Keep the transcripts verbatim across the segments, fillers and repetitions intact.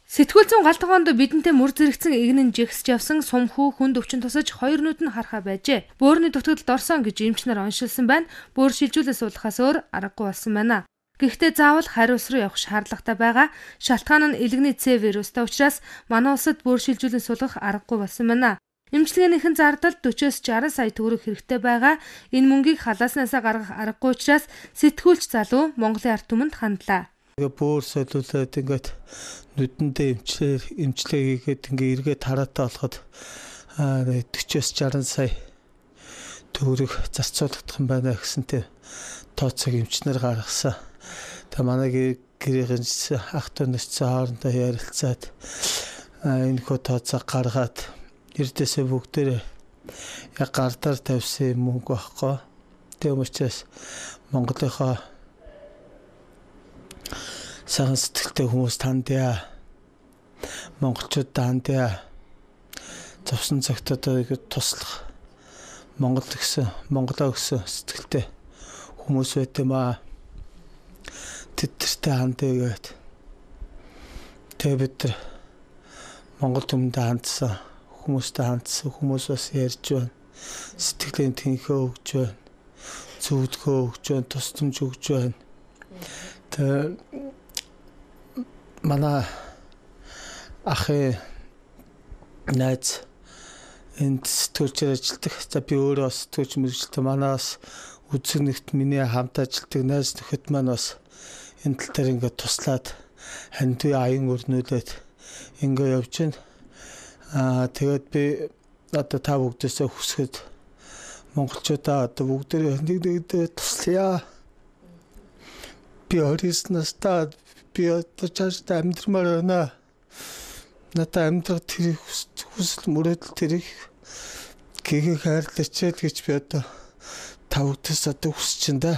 Сэтгүүл зүйн галтгоонд бидэнтэй мөр зэрэгцэн игнэн жигсэж явсан сумхүү хүнд өвчин тусаж хоёр нүд нь харахаа байжээ. Бөөрийн дутагдалд орсон гэж эмчнэр оншилсан байна. Бөөр шилжүүлээ суулгахаас өөр аргагүй болсон байна. Гэхдээ заавал хариус руу явах шаардлагатай байгаа. Шалтгаан нь илгэний С вирустай учраас манай улсад бөөр шилжүүлэн суулгах аргагүй болсон байна. Эмчилгээнийхэн зардал дөрвөөс жаргал сая төгрөг хэрэгтэй байгаа. Энэ мөнгийг халааснасаа гаргах аргагүй учраас сэтгүүлч залуу Монголын ард түмэнд хандлаа. Бөөр солиулаад ингээд нүдэндээ эмчлээ эмчлээ хийгээд ингээд эргээд хараатай болоход дөрвөөс жаргал сая төгрөг зарцуулагдах юм байна гэсэнтэй тооцоог эмчнэр гаргасан. Тэгээ манай гэрийн ах дүү нарцсан хоорондоо ярилцаад энэ хөө тооцоог гаргаад эрдээсээ бүгдээрээ яг гардаар тавьсан мөнгө байхгүй. Тийм учраас Монголынхоо сайн сэтгэлтэй хүмүүс тандяа, монголчууд тандяа, зовсон цагтаа туслах Монгол гэсэн Монголоо гэсэн сэтгэлтэй хүмүүс байт юм аа. Тэдэртэй хандъягээд тэгээ бид нар Монгол түмэндээ хандсан хүмүүстэй хандсан хүмүүс бас ярьж байна. Сэтгэлийн тэнхээ өгж байна. Зүудгөө өгж байна, тусламж өгж байна. Тэгээ манай ахын найз энд сэтгүүлчээр ажилладаг. За би өөрөө бас сэтгүүлч мэргэжилтэй. Манаас үзэг нэгт миний хамт ажилладаг найз нөхөд маань бас энэ тал дээр ингээд туслаад хандив аян өрнүүлээд ингээд явж байна. Аа тэгээд би одоо та бүгдээсээ хүсэхэд монголчуудаа одоо бүгдээ нэг нэгдээ туслая. Би орисноос та би одоо чааштай амьдрмаар байна. Надад амьдрах тэр хүсэл мөрөөдөл тэрийг гэгийг хайрлаач гэж би одоо та бүгдээс одоо хүсэж байна да.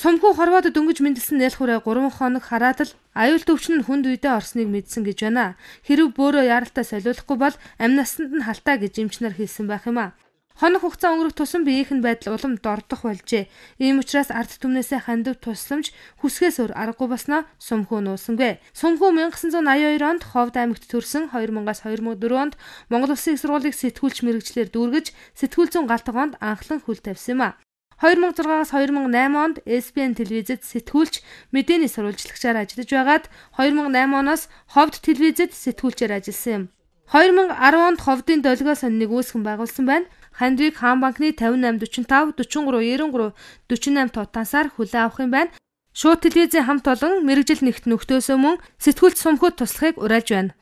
Сумхүү хорвоод дөнгөж мэндэлсэн нээлхүүрээ гурван хоног хараад л аюул төвчн нь хүнд үедээ орсныг мэдсэн гэж байна. Хэрв бөөрөө яралтай солиулахгүй бол амь насанд нь халтаа гэж эмчнэр хэлсэн байх юм а. Хоног хугацаа өнгөрөх тусам биеийнхэн байдал улам дордох болжээ. Ийм учраас ард түмнээсээ хандив тусламж хүсгээс өөр аргагүй болсноо Сумхүү нуусангүй. Сумхүү 천구 аяа хоёр онд Ховд аймагт төрсөн хоёр мянгаас хоёр мянган дөрөв онд Монгол Улсын их сургуулийг сэтгүүлч мэргэжлэр дүүргэж сэтгүүл зүйн галтгоонд анхлан хөл тавьсан юм а. хоёр мянган зургаас хоёр мянган найман онд эс би эн телевизэд сэтгүүлч мэдээний сурвалжлагчаар ажиллаж байгаад хоёр мянган найман оноос Ховд телевизэд сэтгүүлчээр ажилласан юм. хоёр мянган арав онд Ховдын долгио сониныг үүсгэн байгуулсан байна. Хандвиг хаан банкны тавин восемь дөрвөн тав дөрвөн гурав девяносто три дөрвөн восемь тутаасаар хүлээн авах юм байна. Шууд телевизийн хамт олон мэргэжил нэгт нөхдөөсөө мөн сэтгүүлч Сумхүүд туслахыг уриалж байна.